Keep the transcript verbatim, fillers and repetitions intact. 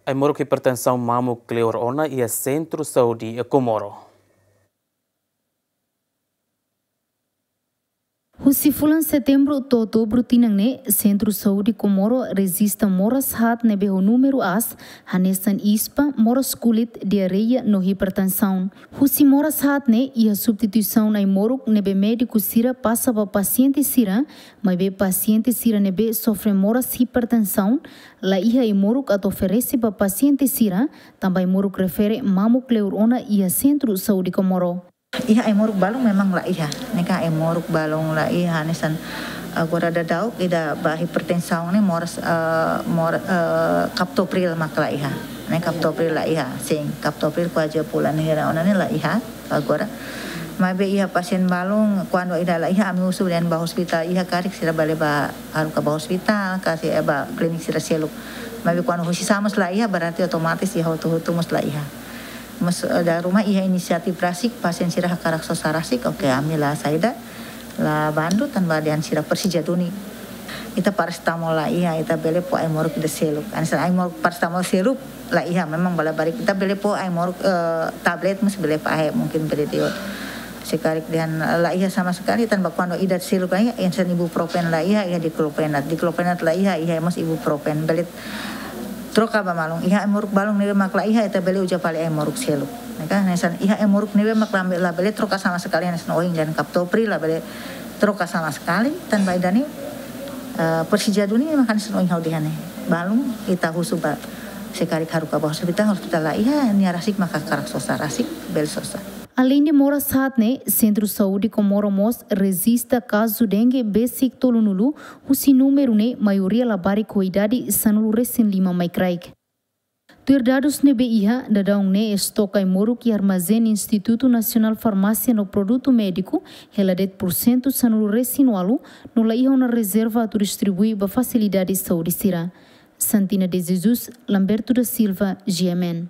Ai-moruk hipertensaun mamuk kleur ona iha Sentru Saúde Comoro. Husi fulan Setembru to'o Outubru tinan ne'e, Sentru Saúde Comoro rejista moras haat ne'ebé ho númeru aas, hanesan ispa, moras kulit, diarreia no hipertensaun. Husi moras haat ne'e iha substituisaun ai-moruk ne'ebé médiku sira pasa ba pasiente sira, maibé pasiente sira ne'ebé sofre moras hipertensaun, la iha ai-moruk atu oferese ba pasiente sira, tanba ai-moruk refere mamuk kleur ona iha Sentru Saúde Comoro. Iha ai-moruk balun memang la iha. Ne'e ka ai-moruk balun la iha, hanesan agora daudaun ida ba hipertensaun ne'e moras, eh, mor-, eh, captopril mak la iha. Ne'e captopril la iha, sin, captopril kuaze fulan hira ona ne'e la iha agora. Maibé iha pasien balun, kuandu ida la iha, ami husu dehan ba ospitál iha karik sira bele bá haruka ba ospitál, ka sira bá klinik sira seluk. Maibé kuandu husi sá mós la iha, berarti otomatis iha hotu-hotu mós la iha. Mas, eh, dala ruma iha inisiatif rasik, pasien sira hakarak sosa rasik, oke, ami la saida, la bandu, tanba dehan sira presiza duni. Ita parasetamol la iha, ita bele fó ai-moruk ida seluk. Hanesan ai-moruk parasetamol seluk la iha, memang bala barik. Ita bele fó ai-moruk, eh, tablet, mas bele fahe, mungkin bele di'ak. Se karik dehan, eh, la iha sama sekali, tanba kuandu ida seluk la iha, hanesan ibuprofen la iha, iha diclofenac. Diclofenac la iha, iha mós ibuprofen. Bele troka ba balun. Iha ai-moruk balun ne'ebé mak la iha, ita bele uza fali ai-moruk seluk. Ne'e ka, hanesan iha ai-moruk ne'ebé mak la, la bele troka sama sekali, hanesan ohin dehan captopril la bele troka sama sekali, tanba ida-ne'e, eh, presiza duni mak hanesan ohin ha'u dehan ne'e. Balun ita husu ba, se karik haruka ba ospitál, ospitál la iha, nia rasik maka hakarak sosa rasik, bele sosa. Aleinde moras haat ne'e, Sentru Saúde Comoro mós rejista kazu dengue besik tolunulu, husi númeru ne'e maioria labarik ho idade sanulu-resin-lima mai kraik. Tuir dadus ne'ebé iha, daudaun ne'e estok ai-moruk iha armazén Institutu Nasionál Farmásia no Produtu Médiku hela de'it pursentu sanulu-resin-ualu, no la iha ona rezerva atu distribui ba fasilidade saúde sira. Santina de Jesus, Lamberto da Silva, G M N.